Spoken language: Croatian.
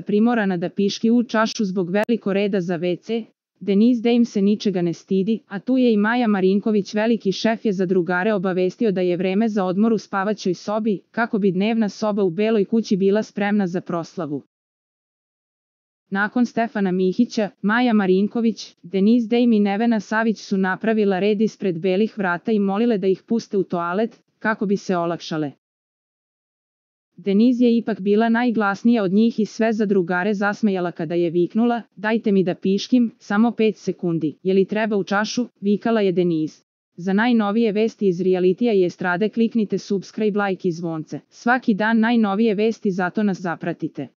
primorana da piški u čašu zbog veliko reda za WC. Denise Dame se ničega ne stidi, a tu je i Maja Marinković, veliki šef je za drugare obavestio da je vreme za odmor u spavaćoj sobi, kako bi dnevna soba u Beloj kući bila spremna za proslavu. Nakon Stefana Mihića, Maja Marinković, Denise Dame i Nevena Savić su napravila red ispred belih vrata i molile da ih puste u toalet, kako bi se olakšale. Denise je ipak bila najglasnija od njih i sve za drugare zasmejala kada je viknula: "Dajte mi da piškim, samo 5 sekundi, je li treba u čašu?" vikala je Denise. Za najnovije vesti iz realitija i estrade kliknite subscribe, like i zvonce. Svaki dan najnovije vesti, zato nas zapratite.